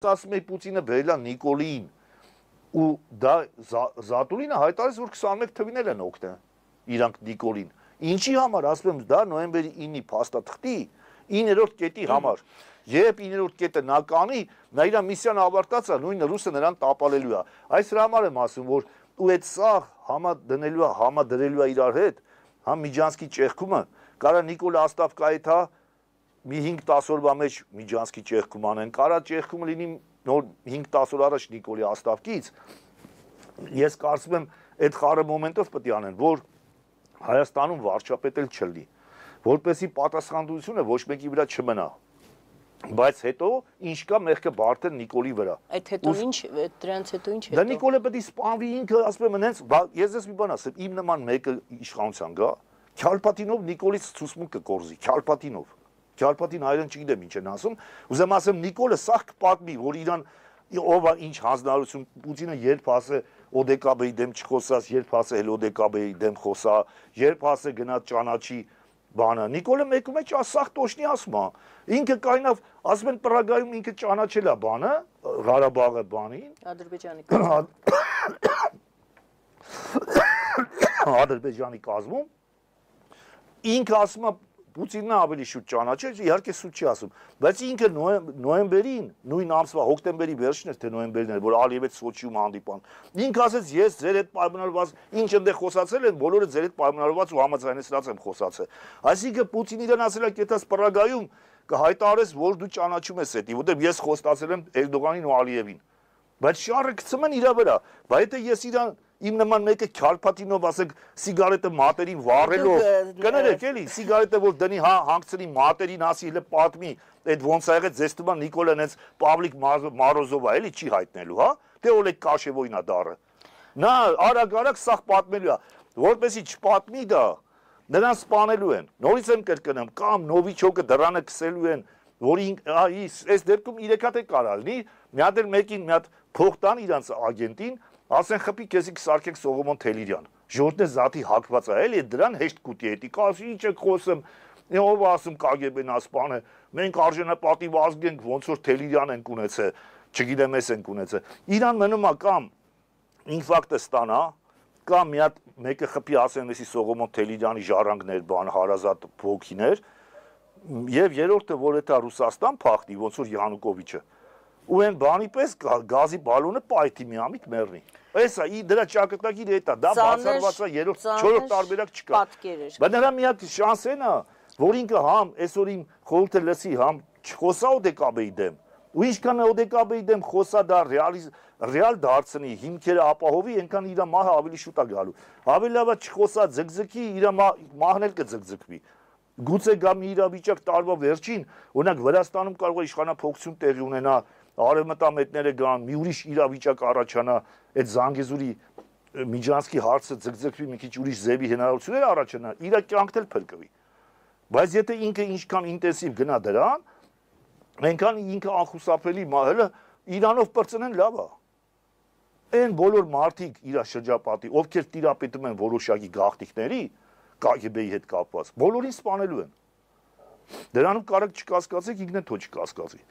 ասում էի Պուտինը բերել է Նիկոլին ու դա Զատուլինը հայտարարեց, որ 21 թվին էլ են օգնել իրանք Նիկոլին։ Ինչի համար, ասում եմ, դա նոյեմբերի 9-ի փաստաթղթի 9-րդ կետի համար։ Երբ 9-րդ կետը նա կանի, նա իր միսիան ավարտած է, նույն ռուսը նրան տապալելու է։ Այս համար եմ ասում, որ ու այդ սաղ համադրելու է իրար հետ, հա Միջանցքի ճեղքումը, կարա Նիկոլը Աստավկայի թա մի 5-10 օրվա մեջ Միջանցքի ճեղքում անեն, կարա ճեղքումը լինի նոր 5-10 օր առաջ Նիկոլի Աստավկից։ Ես կարծում եմ, այդ խառը մոմենտով պետք է անեն, որ Հայաստանում վարչապետ էլ չլինի, որպեսզի պատասխանատվությունը ոչ մեկի վրա չմնա։ Բայց հետո ինչ կա մեղքը բարդել Նիկոլի վրա։ Այդ հետո ինչ, դրանից հետո ինչ հետո։ Դա Նիկոլը պետք է սպանվի ինքը, ասում եմ, հենց ես ես մի բան ասեմ, իմ նման մեկը իշխանության գա, Քյալպատինով Նիկոլից ցուսմունք կկորզի, Քյալպատինով։ Քյալպատին հայերեն չգիտեմ ինչ են ասում, ուզեմ ասեմ Նիկոլը սաղ կպատմի, որ իրան ով է ինչ հանձնարարություն, Պուտինը երբ ասե ՕԴԿԲ-ի դեմ չխոսաս, երբ ասե հել ՕԴԿԲ-ի դեմ խոսա, երբ ասե գնա ճանաչի բանը, Նիկոլը մեկու մեջ սաղ տոշնի ասում է, ինքը կայնավ, ասում են Պրագայում ինքը ճանաչել է բանը, Ղարաբաղը բանին, Ադրբեջանի կազմում, ինքը ասում է Պուտինն ավելի շուտ ճանաչեց, իհարկե սուտ չի ասում, բայց ինքը նոյեմբերին, նույն ամսվա հոկտեմբերի վերջին էր, թե նոյեմբերին էր, որ Ալիևից Սոչիում հանդիպան, ինքը ասեց, ես ձեր հետ պայմանավորված, ինչ ընդեղ խոսացել են, բոլորը ձեր հետ պայմանավորված ու համաձայնեցրած եմ խոսացել։ Այսինքն Պուտինն իրեն ասել է, կետաս Պրագայում կհայտարարես, որ դու ճանաչում ես հետի, որտեղ ես խոստացել եմ Էրդողանին ու Ալիևին։ Բայց շարը գցում են իր վրա, բայց եթե ես իրան իմ նման մեկը Քյալպատինով ասեք սիգարետը մատերին վառելով, կներեք էլի, սիգարետը որ դնի հանգցնի մատերին ասի հələ պատմի, այդ ոնց ա եղել ձեզ թվում է Նիկոլան հենց Պավլիկ Մարոզովա էլի չի հայտնելու, հա, թե Օլեգ Կաշևոյին է դառը։ Նա արագ-արագ սաղ պատմելու է, որպեսզի չպատմի դա, նրան սպանելու են։ Նորից եմ կրկնում, կամ Նովիչոկը դռանը քսելու են, որ այս դեպքում 3 հատ է կարա լինի, մի հատ էլ մեկին մի հատ փող տան իրանց ագենտին, ասեն խփի քեզի կսարքենք Սողոմոն Թելիրյան։ Ժողովուրդն է զատի հակված է, էլի դրան հեշտ կուտի էտի, ասի ինչ եք խոսում, ով ասում KGB-ն ասպանը, մենք արժանապատիվ ազգ ենք, ոնց որ Թելիրյան ենք ունեցել, չգիտեմ ես ենք ունեցել։ Իրան մնում է կամ ինֆակտը ստանա, կամ մի հատ մեկը խփի ասեն էսի Սողոմոն Թելիրյանի ժառանգներ, բան հարազատ փոքիներ, եւ երրորդը որ էտա Ռուսաստան փախնի, ոնց որ Յանուկովիչը, ու այն բանի պես գազի բալոնը պայթի միամիտ մեռնի։ Էսա դրա ճակատագիրը էտա, դա բացառված է 3-4 տարբերակ չկա։ Բայց նրա միակ շանսն է, որ ինքը համ այսօր իմ խորհուրդը լսի, համ չխոսա ՕԴԿԲ-ի դեմ, ու ինչքան ՕԴԿԲ-ի դեմ խոսա դա ռեալ դարձնի, հիմքերը ապահովի, այնքան իր մահը ավելի շուտ է գալու։ Ավելի լավ է չխոսա ձգձգի, իր մահն էլ կձգձգվի։ Գուցե գա մի իրավիճակ տարվա վերջին, օրինակ Վրաստանում կարող է իշխանափոխություն տեղի ունենա, արևմտամետները գան, մի ուրիշ իրավիճակ առաջանա, այդ Զանգեզուրի Միջանցքի հարցը ձգձգվի, մի քիչ ուրիշ ձևի հնարավորություններ առաջանա, իր կյանքն էլ փրկվի։ Բայց եթե ինքը ինչքան ինտենսիվ գնա դրան, այնքան ինքը անխուսափելի մահելը Իրանով պրծնեն լավ է։ Այն բոլոր մարդիկ իր շրջապատի, ովքեր տիրապետում են որոշակի գաղտնիքների, KGB-ի հետ կապված, բոլորին սպանելու են։ Դրանում կարակ չկասկածեք, ինքն էլ թո չկասկածի։